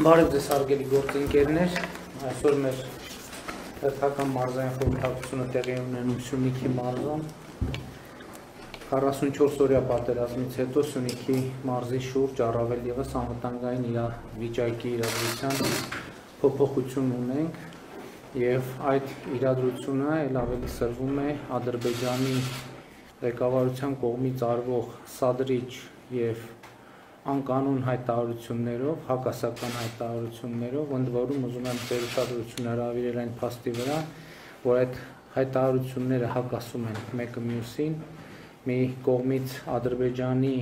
Բարև ձեզ հարգելի գործընկերներ, այսօր մեր հերթական մարզային խորհրդակցությունը տեղի ունենում Սյունիքի մարզում 44-օրյա պատերազմից հետո Սյունիքի մարզի շուրջ առավել ևս անվտանգային իրավիճակի իրադրության փոփոխություն ունենք եւ այդ իրադրությունը ել ավելի սրվում է Ադրբեջանի ղեկավարության կողմից արվող սադրիչ եւ անկանոն հայտարարություններով, հակասական հայտարարություններով, ընդ որում ուզում եմ ձեր ուշադրությունը հրավիրել այն փաստի վրա, որ այդ հայտարարությունները հակասում են մեկը մյուսին, մի կողմից Ադրբեջանի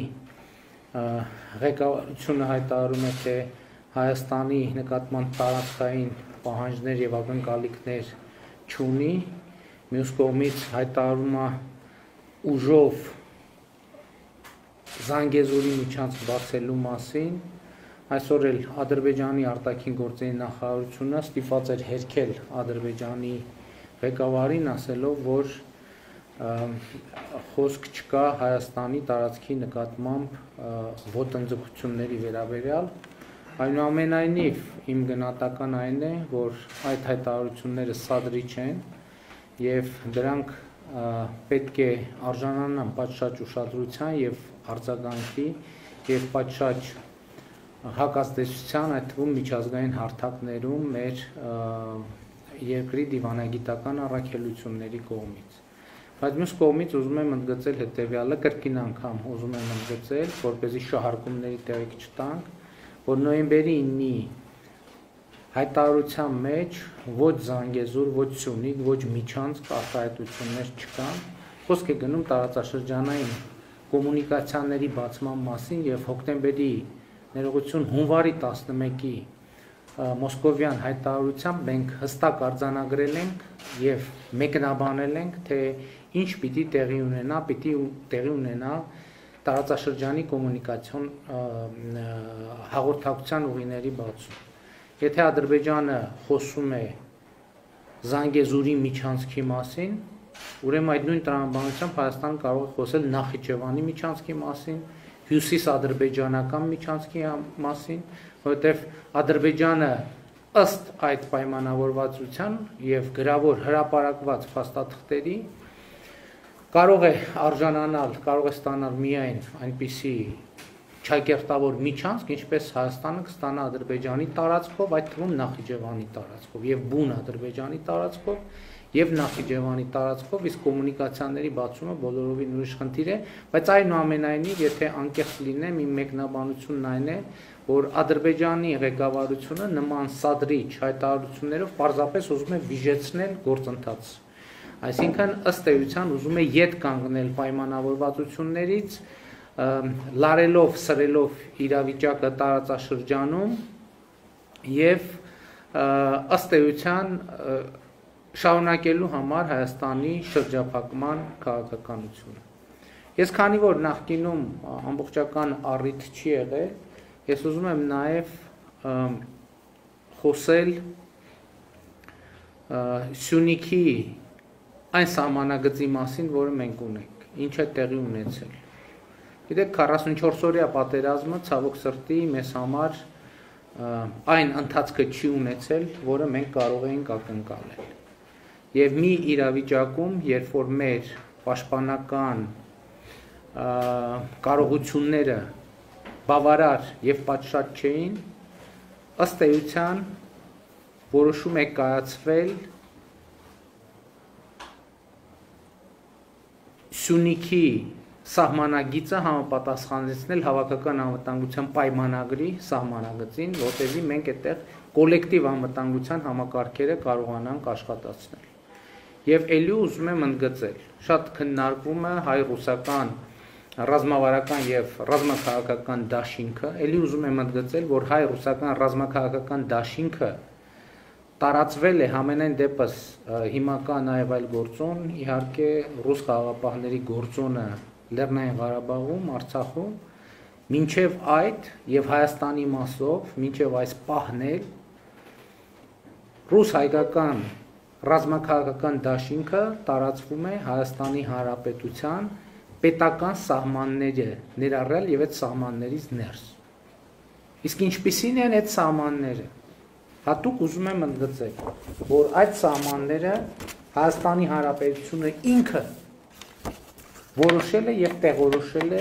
ղեկավարությունը հայտարարում է, թե Հայաստանի նկատմամբ տարածքային պահանջներ եւ ակնկալիքներ չունի, մյուս կողմից հայտարարում է ուժով Զանգեզուրի միջանցք բացելու մասին, այսօր էլ Ադրբեջանի արտաքին գործերի նախարարությունը ստիպված էր հերքել Ադրբեջանի ղեկավարին, ասելով, որ խոսք չկա Հայաստանի տարածքի նկատմամբ ոտնձգությունների վերաբերյալ, այնուամենայնիվ իմ գնահատական այն է, որ այդ հայտարարությունները սադրիչ են եւ դրանք պետք է արժանանան պատշաճ ուշադրության եւ արձագանքի եւ պատշաճ հակազդեցության, այդ թվում միջազգային հարթակներում մեր երկրի դիվանագիտական առաքելությունների կողմից։ Բայց մյուս կողմից ուզում եմ ընդգծել հետեւյալը, կրկին անգամ ուզում եմ ընդգծել, որպեսզի շահարկումների տեղիք չտանք, որ նոյեմբերի 9-ի հայտարարության մեջ ոչ Զանգեզուր, ոչ Սյունիք, ոչ Միջանցք արտահայտություններ չկան, խոսք է գնում տարածաշրջանային կոմունիկացիաների բացման մասին եւ հոկտեմբերի ներողություն հունվարի 11-ի մոսկովյան հայտարարությամբ մենք հստակ արձանագրել ենք եւ մեկնաբանել ենք, թե ինչ պիտի տեղի ունենա տարածաշրջանի կոմունիկացիոն հաղորդակցության ուղիների բացում։ Եթե Ադրբեջանը խոսում է Զանգեզուրի միջանցքի մասին, ուրեմն այդ նույն տրամաբանությամբ Հայաստանը կարող է խոսել Նախիջևանի միջանցքի մասին, հյուսիսադրբեջանական միջանցքի մասին, որովհետև Ադրբեջանը ըստ այդ պայմանավորվածության եւ գրավոր հրապարակված փաստաթղթերի կարող է արժանանալ, կարող է ստանալ միայն այնպիսի չակերտավոր միջանցք, ինչպես Հայաստանը կստանա Ադրբեջանի տարածքով, այդ թվում Նախիջևանի տարածքով եւ բուն Ադրբեջանի տարածքով եւ Նախիջևանի տարածքով, իսկ կոմունիկացիաների բացումը բոլորովին ուրիշ խնդիր է, բայց այնուամենայնիվ, եթե անկեղծ լինեմ, իմ մեկնաբանությունն այն է, որ Ադրբեջանի ղեկավարությունը նման սադրիչ հայտարարություններով պարզապես ուզում է վիժեցնել գործընթացը։ Այսինքն ըստ էության ուզում է ետ կանգնել պայմանավորվածություններից, լարելով, սրելով իրավիճակը տարածաշրջանում եւ ըստ էության շարունակելու համար Հայաստանի շրջափակման քաղաքականությունը։ Ես քանի որ նախկինում ամբողջական առիթ չի եղել, ես ուզում եմ նաեւ խոսել Սյունիքի այն սահմանագծի մասին, որը մենք ունենք, ինչ է տեղի ունեցել։ Գիտեք, 44-օրյա պատերազմը ցավոք սրտի մեզ համար այն ընթացքը չի ունեցել, որը մենք կարող էինք ակնկալել։ Եվ մի իրավիճակում, երբ որ մեր պաշտպանական կարողությունները բավարար եւ պատշաճ չէին, ըստ էության որոշում է կայացվել Սյունիքի սահմանագիծը համապատասխանեցնել հավաքական անվտանգության պայմանագրի սահմանագծին, որտեղի մենք այդտեղ կոլեկտիվ անվտանգության համակարգերը կարողանանք աշխատացնել։ Եվ ելի ուզում եմ ընդգծել, շատ քննարկվում է հայ-ռուսական ռազմավարական եւ ռազմաքաղաքական դաշինքը, ելի ուզում եմ ընդգծել, որ հայ-ռուսական ռազմաքաղաքական դաշինքը տարածվել է համենայն դեպս հիմա կա նաեւ այլ գործոն, իհարկե ռուս խաղաղապահների գործոնը Լեռնային Ղարաբաղում, Արցախում, մինչև այդ եւ Հայաստանի մասով, մինչև այս պահն էլ ռուս-հայկական ռազմաքաղաքական դաշինքը տարածվում է Հայաստանի Հանրապետության պետական սահմանները ներառյալ եւ այդ սահմաններից ներս։ Իսկ ինչպիսին են այդ սահմանները։ Հատուկ ուզում եմ ընդգծել, որ այդ սահմանները Հայաստանի Հանրապետությունը ինքը որոշել է եւ տեղորոշել է,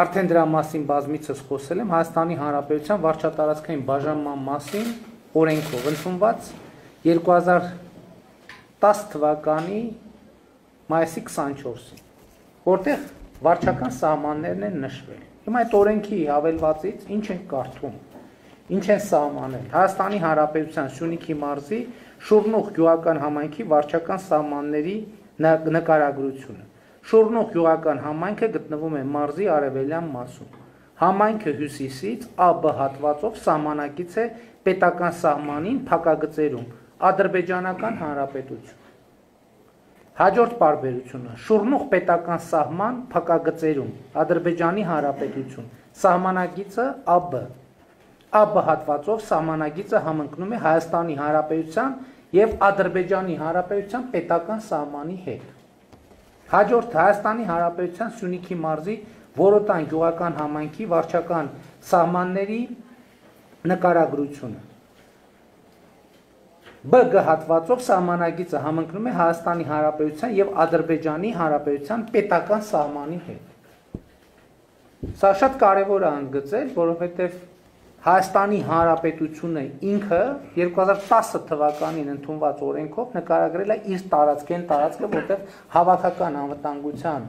արդեն դրա մասին բազմիցս խոսել եմ, Հայաստանի Հանրապետության վարչատարածքային բաժանման մասին օրենքով ընդունված 2010 թվականի մայիսի 24-ին, որտեղ վարչական սահմաններն են նշվել։ Հիմա այդ օրենքի հավելվածից ինչ են կարդում, ինչ են սահմանել Հայաստանի Հանրապետության Սյունիքի մարզի Շուռնուղ գյուղական համայնքի վարչական սահմանների նկարագրությունը։ Շուռնուղ գյուղական համայնքը գտնվում է մարզի արևելյան մասում։ Համայնքը հյուսիսից ԱԲ հատվածով սահմանակից է պետական սահմանին փակագծերում Ադրբեջանական Հանրապետություն։ Հաջորդ պարբերությունը Շուռնուղ պետական սահման փակագծերում Ադրբեջանի Հանրապետություն։ Սահմանակիցը ԱԲ։ ԱԲ հատվածով սահմանագիծը համընկնում է Հայաստանի Հանրապետության եւ Ադրբեջանի Հանրապետության պետական սահմանի հետ։ Հաջորդ Հայաստանի Հանրապետության Սյունիքի մարզի Որոտան գյուղական համայնքի վարչական սահմանների նկարագրությունը։ ԲԳ հատվածով սահմանագիծը համընկնում է Հայաստանի Հանրապետության եւ Ադրբեջանի Հանրապետության պետական սահմանի հետ։ Սա շատ կարևոր է ընդգծել, որովհետեւ Հայաստանի Հանրապետությունը ինքը 2010 թվականին ընդունված օրենքով նկարագրել է իր տարածքը, որտեղ հավաքական անվտանգության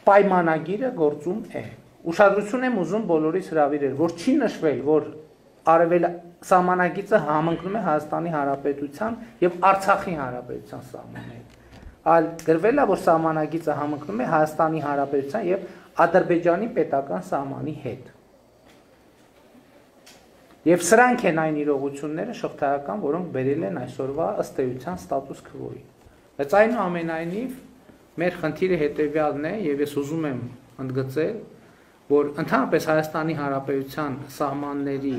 պայմանագիրը գործում է։ Ուշադրություն եմ ուզում բոլորիս հրավիրել, որ չի նշվել, որ արևել սահմանագիծը համընկնում է Հայաստանի Հանրապետության եւ Արցախի Հանրապետության սահմաններին։ Այլ գրվել է, որ սահմանագիծը համընկնում է Հայաստանի Հանրապետության եւ Ադրբեջանի պետական սահմանի հետ։ Եվ սրանք են այն իրողությունները շղթայական, որոնք բերել են այսօրվա ըստ էության ստատուս քվոյի։ Բայց այնուամենայնիվ մեր խնդիրը հետևյալն է, եւ ես ուզում եմ ընդգծել, որ ընդհանրապես Հայաստանի Հանրապետության սահմանների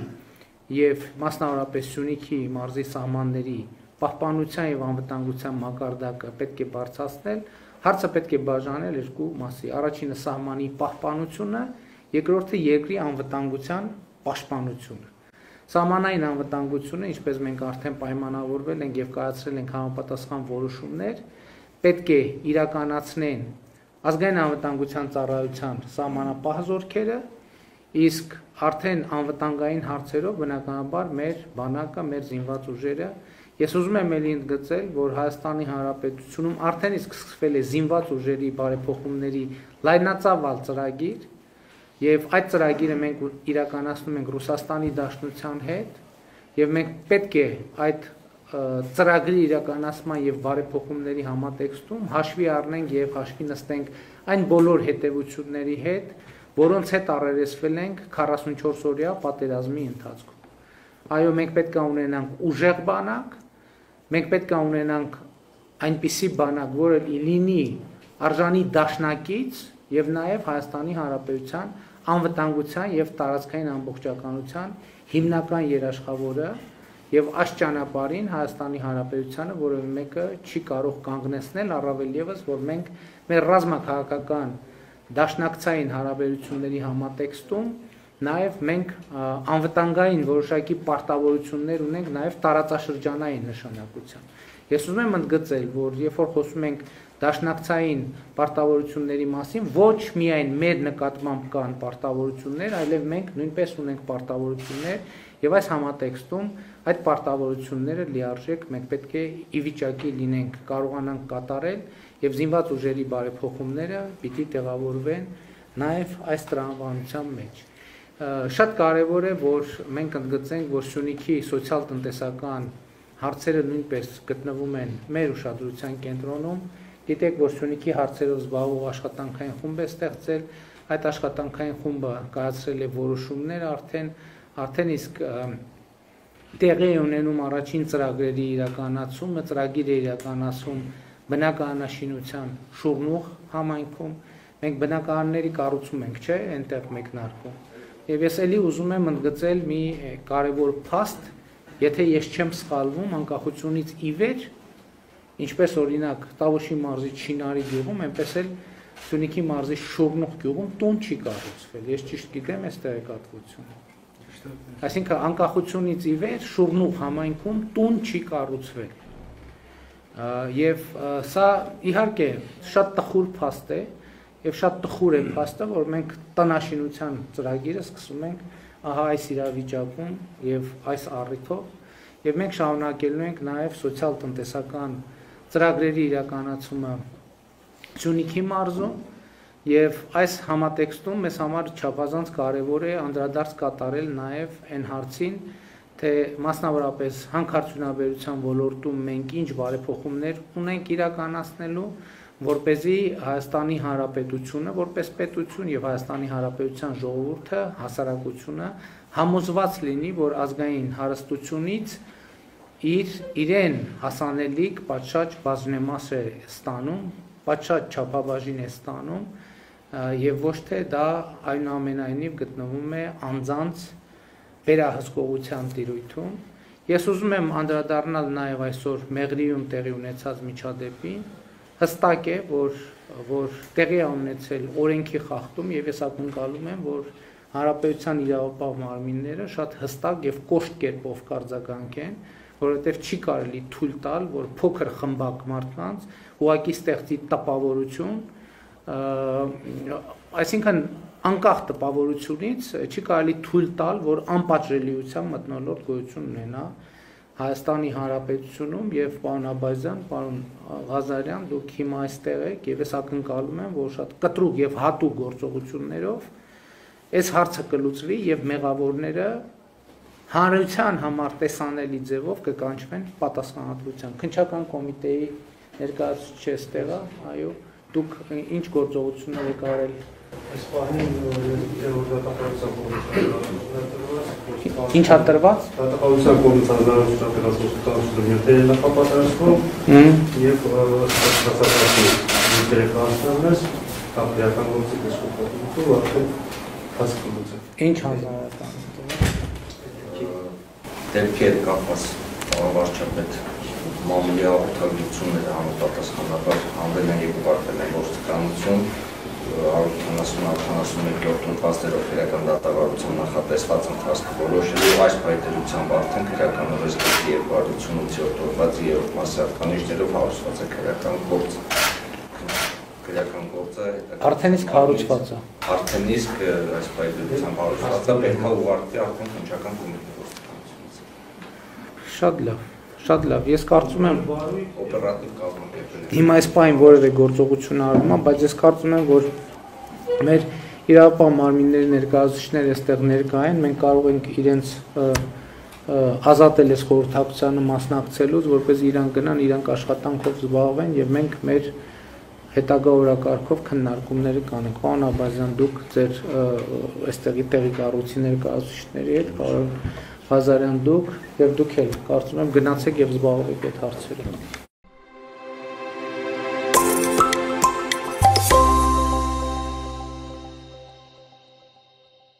եւ մասնավորապես Սյունիքի մարզի սահմանների պահպանության եւ անվտանգության մակարդակը պետք է բարձրացնել, հարցը պետք է բաժանել երկու մասի։ Առաջինը սահմանի պահպանությունը, երկրորդը երկրի անվտանգության պաշտպանությունը։ Սահմանային անվտանգությունը, ինչպես մենք արդեն պայմանավորվել ենք եւ կայացրել ենք համապատասխան որոշումներ, պետք է իրականացնեն ազգային անվտանգության ծառայության սահմանապահ զորքերը, իսկ արդեն անվտանգային հարցերով բնականաբար մեր բանակը, մեր զինված ուժերը։ Ես ուզում եմ ելի ընդգծել, որ Հայաստանի Հանրապետությունում արդեն իսկ սկսվել է զինված ուժերի բարեփոխումների լայնածավալ ծրագիր, եւ այդ ծրագիրը մենք իրականացնում ենք Ռուսաստանի Դաշնության հետ, եւ մենք պետք է այդ ծրագրի իրականացման եւ բարեփոխումների համատեքստում հաշվի առնենք եւ հաշվի նստենք այն բոլոր հետեւությունների հետ, որոնց հետ առերեսվել ենք 44-օրյա պատերազմի ընթացքում։ Այո, մենք պետք է ունենանք ուժեղ բանակ, մենք պետք է ունենանք այնպիսի բանակ, որը լինի արժանի դաշնակից եւ նաեւ Հայաստանի Հանրապետության անվտանգության եւ տարածքային ամբողջականության հիմնական երաշխավորը եւ այս ճանապարհին Հայաստանի Հանրապետությանը որևէ մեկը չի կարող կանգնեցնել, առավել եւս որ մենք մեր ռազմաքաղաքական դաշնակցային հարաբերությունների համատեքստում նաեւ մենք անվտանգային որոշակի պարտավորություններ ունենք նաեւ տարածաշրջանային նշանակության։ Ես ուզում եմ ընդգծել, որ երբ որ խոսում ենք դաշնակցային պարտավորությունների մասին, ոչ միայն մեր նկատմամբ կան պարտավորություններ, այլև մենք նույնպես ունենք պարտավորություններ եւ այս համատեքստում այդ պարտավորությունները լիարժեք մենք պետք է ի վիճակի լինենք, կարողանանք կատարել եւ զինված ուժերի բարեփոխումները պիտի տեղավորվեն նաեւ այս տրամաբանության մեջ։ Շատ կարեւոր է, որ մենք ընդգծենք, որ Սյունիքի սոցիալ-տնտեսական հարցերը նույնպես գտնվում են մեր ուշադրության կենտրոնում։ Գիտեք, որ Սյունիքի հարցերով զբաղվող աշխատանքային խումբ է ստեղծել, այդ աշխատանքային խումբը կայացրել է որոշումներ արդեն իսկ տեղի է ունենում առաջին ծրագրերի իրականացումը, ծրագիրը իրականացում բնակարանաշինության Շուռնուղ համայնքում, մենք բնակարանների կառուցում ենք, չէ, այնտեղ մեկնարկում։ Եվ ես էլի ուզում եմ ընդգծել մի կարևոր փաստ, եթե ես չեմ սխալվում, անկախությունից ի վեր, ինչպես օրինակ Տավուշի մարզի Չինարի գյուղում, այնպես էլ Սյունիքի մարզի Շորնուղ գյուղում տուն չի կառուցվել։ Ես ճիշտ գիտեմ այս տեղեկատվությունը։ Այսինքն անկախությունից ի վեր Շորնուղ համայնքում տուն չի կառուցվել։ Եվ սա իհարկե շատ տխուր փաստ է, եւ շատ տխուր է փաստը, որ մենք տնաշինության ծրագիրը սկսում ենք ահա այս իրավիճակում եւ այս առիթով, եւ մենք շարունակելու ենք նաեւ սոցիալ-տնտեսական ծրագրերի իրականացումը Սյունիքի մարզում եւ այս համատեքստում մեզ համար չափազանց կարեւոր է անդրադարձ կատարել նաեւ այն հարցին, թե մասնավորապես հանքարդյունաբերության ոլորտում մենք ինչ բարեփոխումներ ունենք իրականացնելու, որպեսզի Հայաստանի Հանրապետությունը որպես պետություն եւ Հայաստանի Հանրապետության ժողովուրդը, հասարակությունը համոզված լինի, որ ազգային հարստությունից իրեն հասանելիք պատշաճ բաժնեմաս է ստանում, պատշաճ չափաբաժին է ստանում եւ ոչ թե դա այնուամենայնիվ գտնվում է անձանց վերահսկողության տիրույթում։ Ես ուզում եմ անդրադառնալ նաեւ այսօր Մեղրիում տեղի ունեցած միջադեպին։ Հստակ է, որ տեղի է ունեցել օրենքի խախտում եւ ես ակնկալում եմ, որ հանրապետության իրավապահ մարմինները շատ հստակ եւ կոշտ կերպով կարձագանքեն, որովհետեւ չի կարելի թույլ տալ, որ փոքր խմբակ մարդկանց ուղակի ստեղծի տպավորություն, այսինքն անկախ տպավորությունից չի կարելի թույլ տալ, որ անպատժելիության մթնոլորտ գոյություն ունենա Հայաստանի Հանրապետությունում եւ պարոն Աբազյան, պարոն Ղազարյան, դուք հիմա այստեղ եք եւ ես ակնկալում եմ, որ շատ կտրուկ եւ հատուկ գործողություններով այս հարցը կլուծվի եւ մեղավորները հանրության համար տեսանելի ձևով կկանչվեն պատասխանատվության։ Քննչական կոմիտեի ներկայացուցիչ է ստեղա, այո, դուք ինչ գործողություններ եք արել։ Այս պահին Ինչ է տրված։ Դատապարտության կողմից հանրահավաքական կոնսուլտացիաների նախապատրաստում եւ հասարակական դերակատարություններ կապիտալական գործի դասկոպատու արդեն հասկացում։ Ինչ հանրահավաքական դեպքեր կապված վարչապետ մամուլի հաղորդագրությունները համապատասխանաբար հանվել են երկու վարպետների գործականություն 171-րդ փաստերով քրեական դատավարության նախատեսված ընթացքը որոշելու այս պայմանությամբ արդեն քրեականորեն ստի 288-րդ օրվացի 3-րդ մասի հատկանիշներով հարուցված է քրեական գործը արդեն իսկ հարուցված է։ Արդեն իսկ այս պայմանությամբ հարուցված է, պետք է ուղղարկվի արդեն քննչական կոմիտեի գործականությունից։ Շատ լավ, ես կարծում եմ օպերատիվ կազմակերպել։ Հիմա այս պահին որևէ գործողություն արվում է, բայց ես կարծում եմ, որ մեր իրավապահ մարմինների ներկայացուցիչները այստեղ ներկա են, մենք կարող ենք իրենց ազատել այս խորհրդակցությանը մասնակցելուց, որպեսզի իրանք գնան, իրանք աշխատանքով զբաղվեն եւ մենք մեր հետագա օրակարգով քննարկումները կանենք։ Պարոն Աբազյան, դուք ձեր այստեղի տեղի կառույցի ներկայացուցիչների հետ, պարոն Ղազարյան, դուք եւ դուք էլ կարծում եմ գնացեք եւ զբաղվեք այդ հարցերով։